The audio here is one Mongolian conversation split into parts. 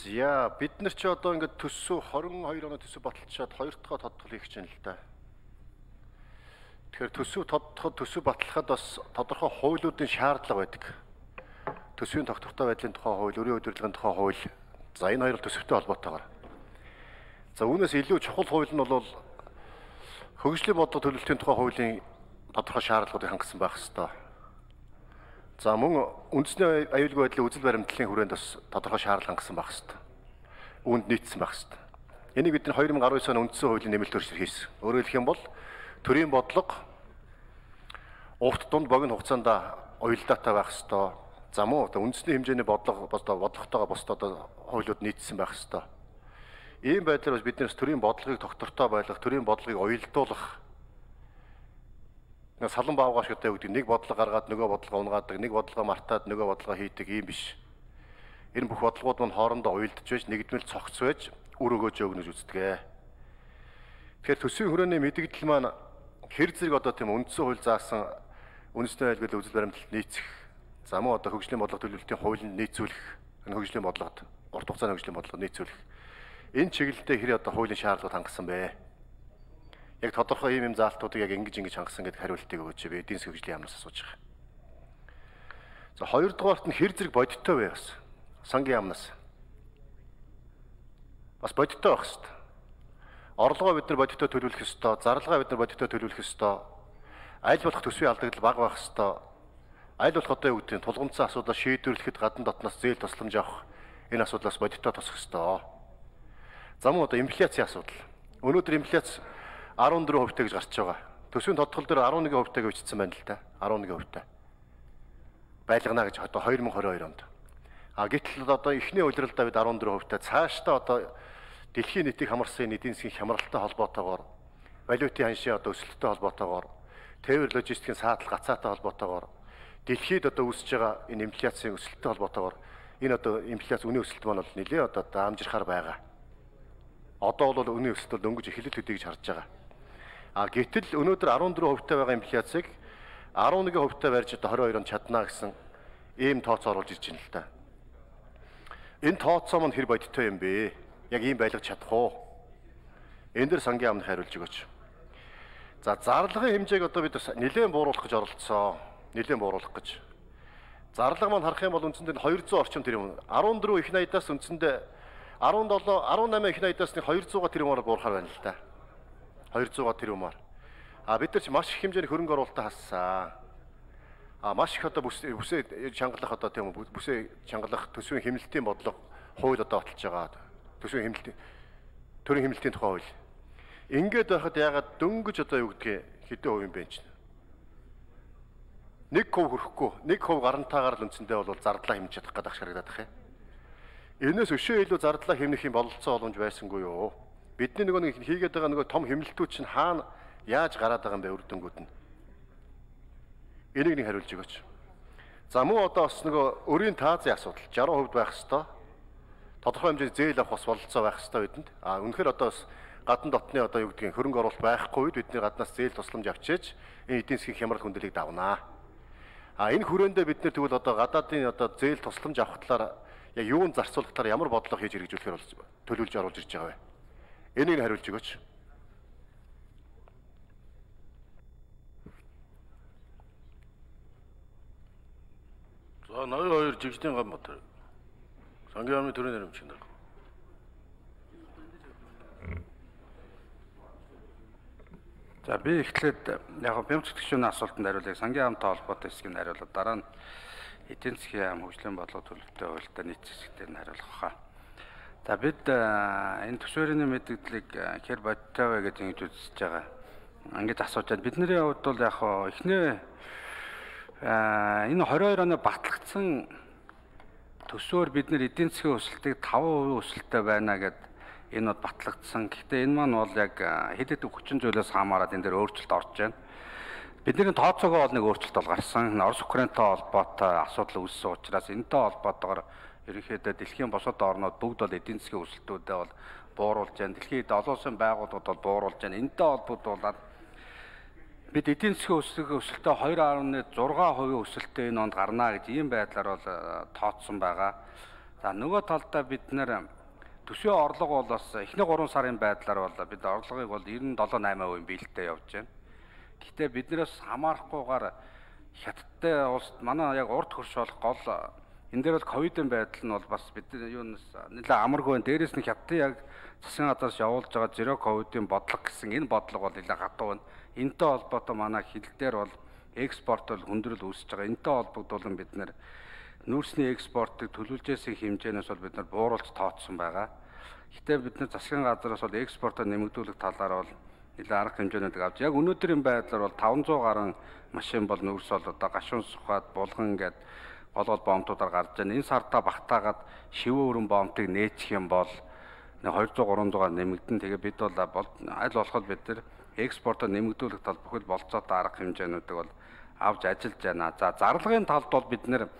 За бид нар ч одоо ингээд төсөв 22 оны төсөв баталчаад 2 дахь тодтол хийх гэж байна л да. Тэгэхээр төсөв тодтоход төсөв батлахад бас тодорхой хуулиудын шаардлага байдаг. Төсвийн тогтвортой байдлын тухай хууль, өрийн удирдлагын тухай хууль. За энэ хоёр төсөвтэй холбоотойгоор. За үүнээс илүү чухал хууль нь бол хөгжлийн бодлого төлөвлөлтийн тухай хуулийн тодорхой шаардлагуудыг хангасан байх ёстой. За мөн үндэсний аюулгүй байдлын үзэл баримтлалын хүрээнд бас тодорхой шаардлага хангасан байх ёстой. Үүнд нийцсэн байх ёстой. Энийг бид 2019 оны үндсэн хуулийн нэмэлт өөрчлөлт хийсэн. Өөрөөр хэлэх юм бол төрийн бодлого урт дунд богино хугацаанд уялдаатай байх ёстой. За мөн үндэсний хэмжээний бодлоготойгоо бусд хуулиуд нийцсэн байх ёстой. Ийм байдлаар бас биднээс төрийн бодлогыг тогтвортой байлгах, төрийн бодлогыг уялдуулах салан баавгаш гэдэг үг нэг бодлого гаргаад нөгөө бодлого унгаадаг, нэг бодлого мартаад нөгөө бодлого хийдэг юм биш. Энэ бүх бодлогууд мань хоорондоо уялдж байж нэгдмэл цогц байж үр өгөөж өгнөж үздэг. Тэгэхээр төсвийн хүрээний мэдэгдэл маань хэр зэрэг одоо тийм үндсэн хууль заасан үндэсний аюулгүй үзэл баримтлалд нийцэх, за мөн одоо хөгжлийн бодлого төлөвлөлтийн хуулинд нийцүүлэх, энэ хөгжлийн бодлогод урт хугацааны хөгжлийн бодлогод нийцүүлэх. Энэ чиглэлдээ хэр одоо хуулийн шаардлагууд хангасан бэ? Яг тодорхой ийм заалтуудыг яг ингэж хангасан гэдэг хариултыг өгөөч би эдийн засгийн хөгжлийн яамнаас асууж байгаа. За хоёрдугаарт нь хэр зэрэг бодиттой вэ бас? Сангийн яамнаас. Бас бодиттой байх хэрэгтэй. Орлогоо бид нар бодиттой төлөвлөх ёстой, зарлагаа бид нар бодиттой төлөвлөх ёстой. Аль болох төсвийн алдагдал бага байх ёстой. Аль болох одоо юу гэдэг нь тулгымцсан асуудал шийдвэрлэхэд гадна дотноос зээл тусламж авах энэ асуудлаас бодиттой тосох ёстой. За мөн одоо инфляцийн асуудал. Өнөөдөр инфляц 14% гэж гарч байгаа. Төсвийн тодтгол дээр 11% гэж бичсэн байна л да. 11%. Байлгана гэж одоо 2022 онд. Гэтэл одоо эхний улиралдаа бид 14%. Цаашдаа одоо дэлхийн нийтийг хамарсан эдийн засгийн хямралтай холбоотойгоор, валютын ханшийн одоо өсөлттэй холбоотойгоор, тээвэр логистикийн саатал гацаатай холбоотойгоор, дэлхийд одоо үүсэж байгаа энэ инфляцийн өсөлттэй холбоотойгоор энэ одоо инфляц үнийн өсөлт маань бол нэлээд одоо даамжирхаар байгаа. Одоо бол үнийн өсөлт дөнгөж эхлэл төдий гэж харж байгаа. Гэтэл өнөөдөр 14% байгаа инфляцийг 11% барьж одоо 22 онд чадна гэсэн ийм тооцоо оруулж ирж байна л да. Энэ тооцоо маань хэр бодиттой юм бэ? Яг ийм байлгаж чадах уу? Энэ дэр сангийн яамны хариулж өгөөч. За зарлагын хэмжээг одоо бид нэлээд бууруулах гэж оролдсон. Нэлээд бууруулах гэж. Зарлага маань харах юм бол үндсэндээ 200 орчим тэрбум. 14 их найдаас үндсэндээ 17, 18 их найдаас 200 тэрбумаар буурахаар байна л да. 200 тэрбумаар. Бид нар ч маш их хэмжээний хөрөнгө оруулалтаа хассан. Маш их одоо бүсээ чангалах одоо тийм бүсээ чангалах төсвийн хэмнэлтийн бодлого хууль одоо баталж байгаа. Төсвийн хэмнэлтийн төрийн хэмнэлтийн тухай хууль. Ингээд байхад ягаад дөнгөж одоо юу гэдгийг хэдэн хувь юм бэ чинь? 1% хүрэхгүй, 1% гарантаагаар л үндсэндээ бол зардлаа хэмжиж чадах гэдэг харагдаад байна. Энээс өшөө илүү зардлаа хэмнэх юм бололцоо боломж байсангүй юу? Бидний нэг хийгээд байгаа нөгөө том хэмнэлтүүд чинь хаана яаж гараад байгаа юм бэ үр дүнгууд нь? Энийг нэг хариулж өгөөч. За мөн одоо бас нөгөө өрийн таазын асуудал 60% байх ёстой. Тодорхой хэмжээний зээл авах бас бололцоо байх ёстой бидэнд. Үнэхээр одоо бас гадна дотны одоо юу гэдгийг хөрөнгө оруулалт байхгүй үед бидний гаднаас зээл тусламж авчиж энэ эдийн засгийн хямрал хүндлэлийг давнаа. Энэ хүрээндээ бид нар тэгвэл одоо гадаадын одоо зээл тусламж авах талаар яг юунд зарцуулах талаар ямар бодлого хийж хэрэгжүүлэхээр төлөвлөж оруулж ирж байгаа вэ? Энийг хариулж өгөөч. За 82 Жигсдийн Ганбатар. Сангийн яамны төрийн нэрмчин нар. За би эхлээд яг бямц гүшүүний асуултанд хариулъя. Сангийн яамтай холбоотой хэсгийг хариулаад дараа нь эдийн засгийн яам хөгжлийн бодлого төлөвтэй хуультай нийт хэсэгтэр нь хариулах хаа. За бид энэ төсвөрийн мэдээллийг хэр бодтой вэ гэж ингэж үзэж байгаа. Ингэж асууж байна. Бидний хувьд бол яг эхнээ энэ 22 оны батлагдсан төсвөр бид нар эдийн засгийн өсөлтийг 5% өсөлттэй байна гэд энэ бол батлагдсан. Гэхдээ энэ маань бол яг хэд хэдэн хүчин зүйлээс хамаарат энэ дээр өөрчлөлт орж байна. Бидний тооцоогоо бол нэг өөрчлөлт бол гарсан. Орос Украинтай холбоотой асуудал үүссэн учраас энэтэй холбоотойгоор ерөнхийдөө дэлхийн бусад орнууд бүгд бол эдийн засгийн өсөлтүүдэд бол бууруулж байна. Дэлхийн олон улсын байгууллагууд бол бууруулж байна. Энэтэй холбоотой бид эдийн засгийн өсөлтөө 2.6% өсөлттэй энэ онд гарна гэж ийм байдлаар бол тооцсон байгаа. За нөгөө талдаа бид нэр төсвийн орлого бол бас эхний 3 сарын байдлаар бол бид орлогыг бол 97-8% биелэлтэй явж байна. Гэхдээ биднээс хамаарахгүйгээр хятадтай улс манай яг урд хөрш болох гол энэ дээр бол ковидын байдал нь бол бас бид юунаас нэлээд амаргүй байна. Дээрээс нь хятадын яг засгийн газраас явуулж байгаа зеро ковидын бодлого гэсэн энэ бодлого бол нэлээд хатуу байна. Энэтэй холбоотой манай хил дээр бол экспорт бол хүндрэл үүсэж байгаа. Энэтэй холбогдуулан бид нэр нүүрсний экспортыг төлөвлөжсэн хэмжээнээс бол бид нар бууруулж тооцсон байгаа. Гэхдээ бид нар засгийн газраас бол экспортоо нэмэгдүүлэх талаар бол нэлээд арга хэмжээнүүдийг авч яг өнөөдрийн байдлаар бол 500 гаруй машин бол нүүрс бол одоо гашуун сухад булган гээд гол боомтуудаар гарч байна. Энэ сартаа багтаагаад шивээ өрөн боомтыг нээчих юм бол 200-300-аар нэмэгдэн. Тэгээ бид бол аль болоход бид нар экспортоо нэмэгдүүлэх тал бүхэл болцоотой арга хэмжээнүүдийг бол авч ажиллаж байна. За зарлагын талд бол бид нэр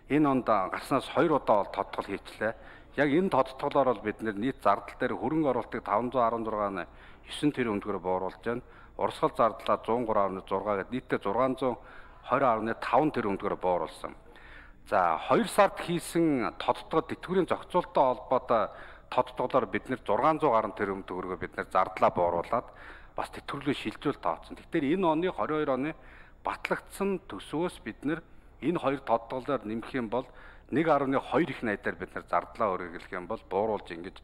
энэ онд гарснаас 2 удаа бол тодтгол хийчлээ. Яг энэ тодтголоор бол бид нийт зардал дээр хөрөнгө оруулалтыг 516.9 тэрбум төгрөгөөр бууруулж байна. Урсгал зардлаа 103.6 гээд нийтдээ 620.5 тэрбум төгрөгөөр бууруулсан. За 2 сард хийсэн тодтгол тэтгэврийн зохицуулалттай холбоотой тодтголоор бид 600 гаруй тэрбум төгрөгөөр бид зардлаа бууруулад бас тэтгэврийн шилжүүлэлт тооцсон. Тэгэхээр энэ оны 22 оны батлагдсан төсвөөс бид энэ хоёр тодтголоор нэмэх юм бол 1.2 их найдаар бид зардлаа өргөглөх юм бол бууруулж ингэж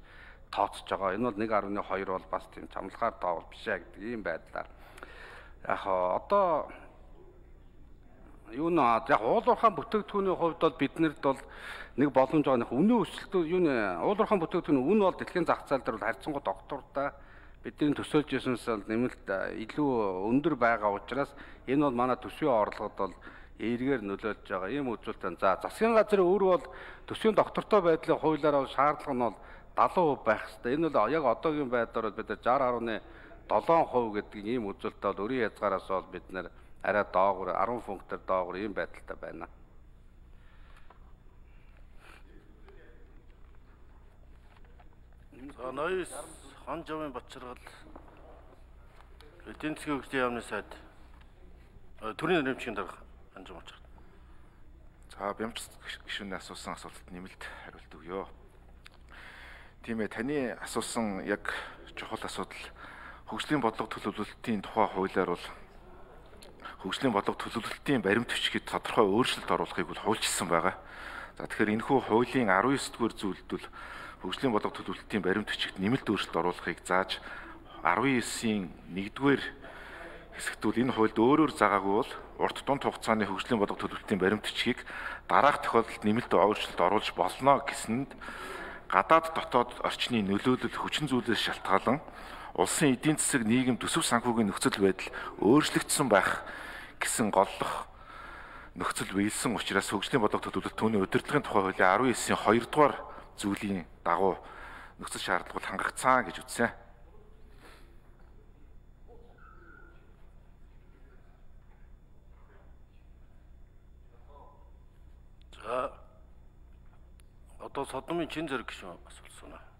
тооцож байгаа. Энэ бол 1.2 бол бас тийм чамлахаар тоовол биш ээ гэдэг ийм байдлаар. Яг одоо юу нэ яг уулуурхаан бүтээгдэхүүний хувьд бол биднэрд бол нэг боломж байгаа. Үнийн өсөлт юу нэ уулуурхаан бүтээгдэхүүний үн бол дэлхийн зах зээл дээр бол харьцангуй доктортой бидний төсөөлж ирсэнээс бол нэмэлт илүү өндөр байгаа учраас энэ бол манай төсвийн орлогод бол эргээр нөлөөлж байгаа ийм үзүүлэлт. За засгийн газрын өөр бол төсвийн доктортой байдлын хуулиар бол шаардлага нь бол 70% байх хэрэгтэй. Энэ бол яг одоогийн байдлаар бид 60.7% гэдэг ийм үзүүлэлт бол өрийн хязгаараас бол бид арай доогуур 10 пунктээр доогуур ийм байдалтай байна. За ноёс хан жавын Батчаргал эдийн засгийн хөгжлийн яамны сайд төрийн нэрмжийн дарга Анжим Очгот. За бямц гишүүний асуусан асуултад нэмэлт хариулт өгье. Тийм ээ, таны асуусан яг чухал асуудал хөгжлийн бодлого төлөвлөлтийн тухай хуулиар бол хөгжлийн бодлого төлөвлөлтийн баримт бичгээд тодорхой өөрчлөлт оруулахыг бол хуульчилсан байгаа. За тэгэхээр энэхүү хуулийн 19-р зүйлд бол хөгжлийн бодлого төлөвлөлтийн баримт бичигт нэмэлт өөрчлөлт оруулахыг зааж 19-ийн 1-р хэсэгт бол энэ хуульд өөрөөр заагаагүй бол урт дунд хугацааны хөгжлийн бодлого төлөвлөлтийн баримт бичгийг дараах тохиолдолд нэмэлт өөрчлөлт оруулж болно гэсэнд гадаад дотоод орчны нөлөөлөл хүчин зүйлээс шалтгаалan улсын эдийн засаг нийгэм төсөв санхүүгийн нөхцөл байдал өөрчлөгдсөн байх гэсэн голлох нөхцөл биелсэн учраас хөгжлийн бодлого төлөвлөлт түүний удирдлагын тухай хуулийн 19-ийн 2-р зүйлийн дагуу нөхцөл шаардлага бол хангагдсан гэж үзсэн. За одоо Содомын чин зэрэг гишүүн асуулсан.